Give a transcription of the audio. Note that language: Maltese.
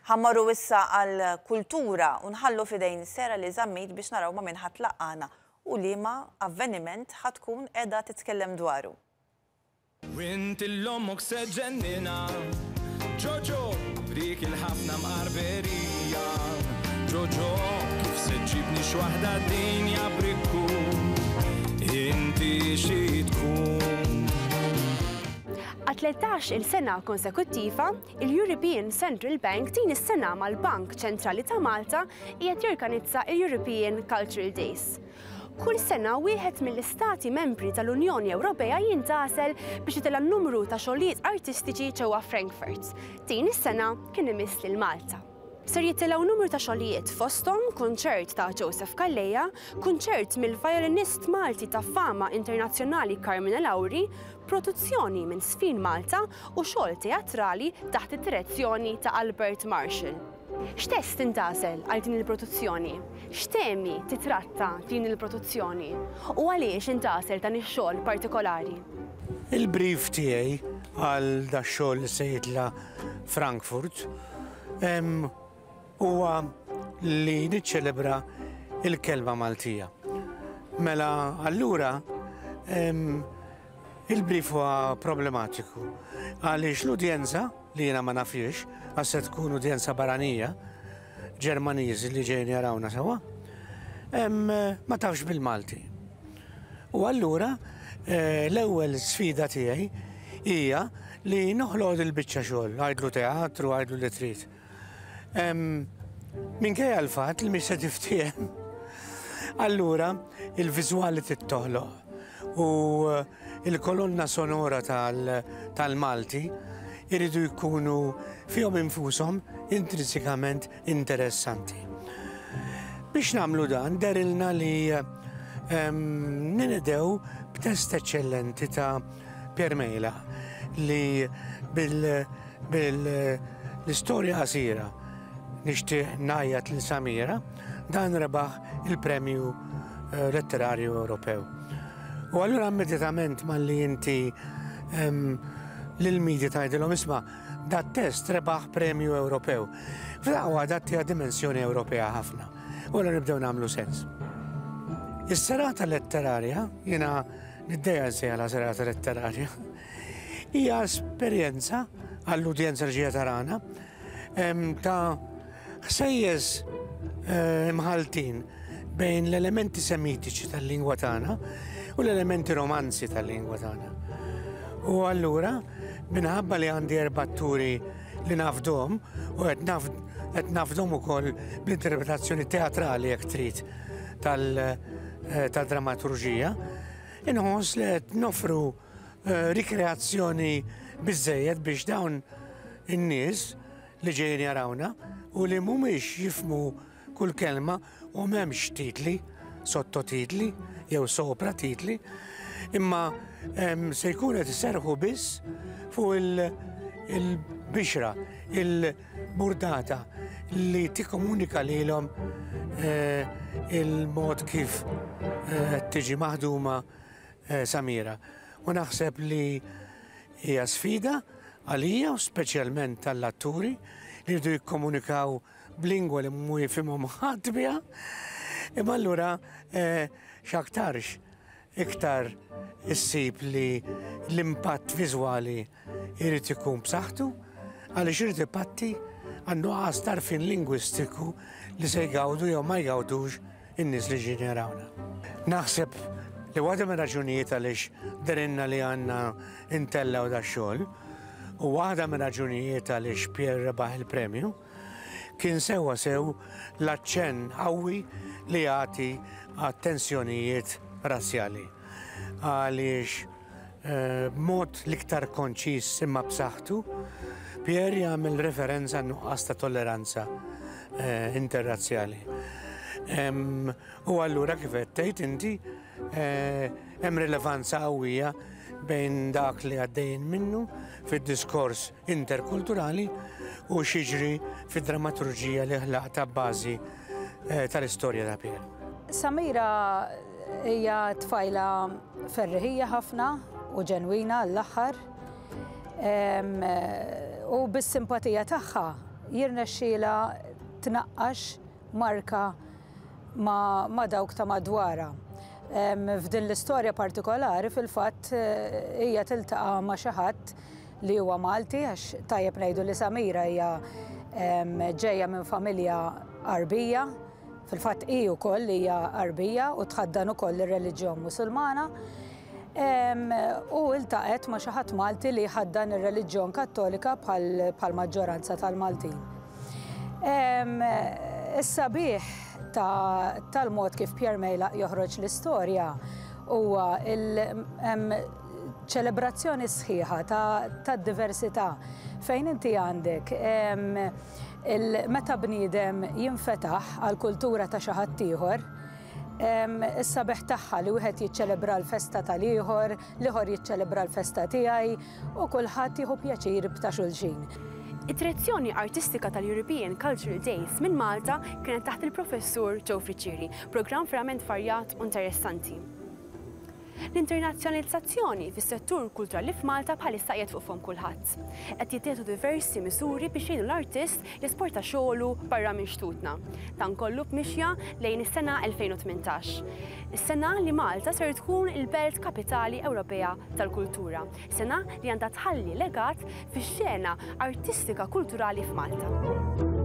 Ħa mmorru issa għall-kultura u nħallu f'idejn Sarah Lee Zammit biex naraw ma' min ħa tlaqqagħna u liema avveniment ħa tkun qiegħda titkellem dwaru. U int 'l ommok se ġġenninha Ġoġo b'dik il-ħafna mqarberija Ġoġo kif se ġġibni x'waħda dinja brikku Inti xi tkun. Għat-13 il sena konsekuttiva, Il-European Central Bank din is-sena mal-Bank Ċentrali ta' Malta qiegħed jorganizza il-European Cultural Days. Kull sena wieħed mill-istati membri tal-Unjoni Ewropea jintgħażel biex itella' numru ta' xogħlijiet artistiċi ġewwa Frankfurt. Din is-sena kien imiss lil Malta. Ser jitilgħu numru ta' xogħlijiet fosthom kunċert ta' Joseph Calleja, kunċert mill-vjolinist Malti ta' fama internazzjonali Carmine Lauri, produzzjoni minn Sfin Malta u xogħol teatrali taħt id-direzzjoni ta' Albert Marshall. X'test intgħażel għal din il-produzzjoni? X'temi titratta din il-produzzjoni? U għaliex intgħażel dan ix-xogħol partikolari? Il-brief tiegħi għal dax-xogħol li se jitla' Frankfurt huwa li niċċelebra l-kelma Maltija. Mela allura il-brief huwa problematiku għaliex l-udjenza li jiena ma nafhiex għax se tkun udjenza barranija, Ġermaniżi li ġejjin jarawna sewwa, ma tafx bil-Malti. U allura l-ewwel sfida tiegħi hija li noħloq dil-biċċa xogħol, għidlu teatru, għidlu li trid. Minkejja l-fatt li mhix se tiftiehem. Allura il-viżwali trid toħloq u il-kolonna sonora tal-Malti iridu jkunu fihom infushom intrinsikament interessanti. Biex nagħmlu dan derilna li ninqdew b'test eċċellenti ta' Pierre Mejla li bil-istorja qasira Nixtieq ngħajjat lil Samira, dan rebaħ il-Premju Letterarju Ewropew. U allura immedjatament malli inti lill-media tgħidilhom isma' dat-test rebaħ premju Ewropew. F'daqqa waħda ttiha dimensjoni Ewropea ħafna. U allura nibdew nagħmlu sens. Is-serata letterarja, jiena niddejjaq nsejjaħlha serata letterarja, hija esperjenza għall-udjenza li ġejja tarana ta' ħsejjes eh, imħaltin bejn l-elementi semitiċi tal-lingwa tagħna u l-elementi romanzi tal-lingwa tagħna. U allura, minħabba li għandi erbatturi li nafdom u qed nafdom ukoll bl-interpretazzjoni teatrali jekk trid eh, tal-dramaturġija, inħoss li qed nofru eh, rikreazzjoni biżejjed biex dawn in-nies li ġejjin jarawna u li mhumiex jifhmu kull kelma u m'hemmx titli, sottotitli jew sopra titli, imma se jkun qed iserrħu biss fuq il-bixra, il-burdata li tikkomunika lilhom eh, il-mod kif eh, tiġi maħduma eh, Samira. U naħseb li hija sfida għalija u speċjalment għall-atturi li jridu jikkomunikaw b'lingwa li mhu jifhimhom ħadd biha. Imma allura eh, x'aktarx iktar issib li l-impatt viżwali jrid ikun b'saħħtu għaliex irid ipatti għan-nuqqas t'għarfien lingwistiku li se jgawdu jew ma jgawdux in-nies li ġejjin jarawna. Naħseb li waħda mir-raġunijiet għaliex dehrilna li għandna ntellgħu dax-xogħol u waħda mir-raġunijiet għaliex Pierre rebaħ il-premju kien sewwa sew l-aċċenn qawwi li jagħti għat-tensjonijiet razzjali. Għaliex B'mod l-iktar konċiż imma b'saħħtu, Pierre jagħmel referenza għan-nuqqas ta' tolleranza interrazzjali. U allura kif qed tgħid inti, hemm rilevanza qawwija bejn dak li għaddejjin minnu fid-diskors interkulturali u x'jiġri fid-drammaturġija li ħlaqt abbażi tal-istorja ta' Pierre. Samira hija tfajla ferriħija ħafna u ġenwina għall-aħħar. U bis-simpatija tagħha jirnexxielha tnaqqax marka ma', ma dawk ta' madwarha. F'din l-istorja partikolari fil-fatt hija tiltaqa' ma' xi ħadd li huwa Malti għax tajjeb ngħidu li Samira hija ġejja minn familja Għarbija, fil-fatt hi wkoll hija Għarbija u tħaddan ukoll ir-reliġjon Musulmana. U iltaqgħet ma' xi ħadd Malti li jħaddan ir-reliġjon Kattolika bħal maġġoranza tal-Maltin. Is-sabiħ tal-mod kif Pierre Mejlaq joħroġ l-istorja huwa ċelebrazzjoni sħiħa tad-diversità fejn inti għandek meta bniedem jinfetaħ għall-kultura ta' xi ħadd ieħor, is-sabiħ tagħha li wieħed jiċċelebra l-festa tal-ieħor, l-ieħor jiċċelebra l-festa tiegħi u kulħadd jieħu pjaċir b'ta' xulxin. Id-direzzjoni artistika tal-European Cultural Days minn Malta kienet taħt il-Professur Joe Friccieri, programm verament varjat u interessanti. L-internazzjonalizzazzjoni fis-settur kulturali f'Malta bħalissa qiegħed fuq fomm kulħadd. Qed jittieħdu diversi miżuri biex jgħinu l-artist jesporta xogħlu barra minn xtutna. Dan kollu b'mixja lejn is-sena 2018. Is-sena li Malta ser tkun il-Belt Kapitali Ewropea tal-Kultura. Sena li għandha tħalli legat fix-xena artistika kulturali f'Malta.